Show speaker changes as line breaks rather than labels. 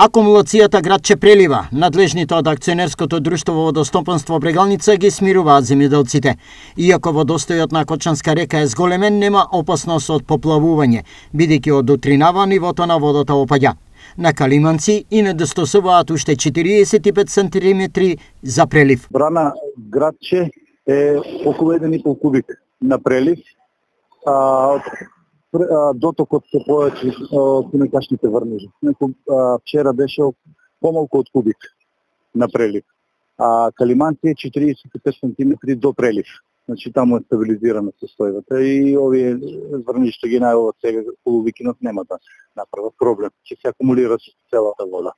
Акумулацијата градче прелива. Надлежните од акционерското друштво Водостопанство Брегалница ги смируваат земјоделците. Иако водостојот на Кочанска река е зголемен, нема опасност од поплавување, бидејќи од утринава нивото на водата опаѓа. На Калиманци и недостосуваат уште 45 сантиметри за прелив.
Брана градче е околу 1,5 кубик на прелив. Дотокот се повеќе кунекашните врнежи. Вчера беше помалку од кубик на прелив. А Калиманци е 45 см до прелив. Значи таму е стабилизирана состојбата и овие врнежи што ги најават сега полувикинот нема да направат проблем. Ќе се акумулира целата вода.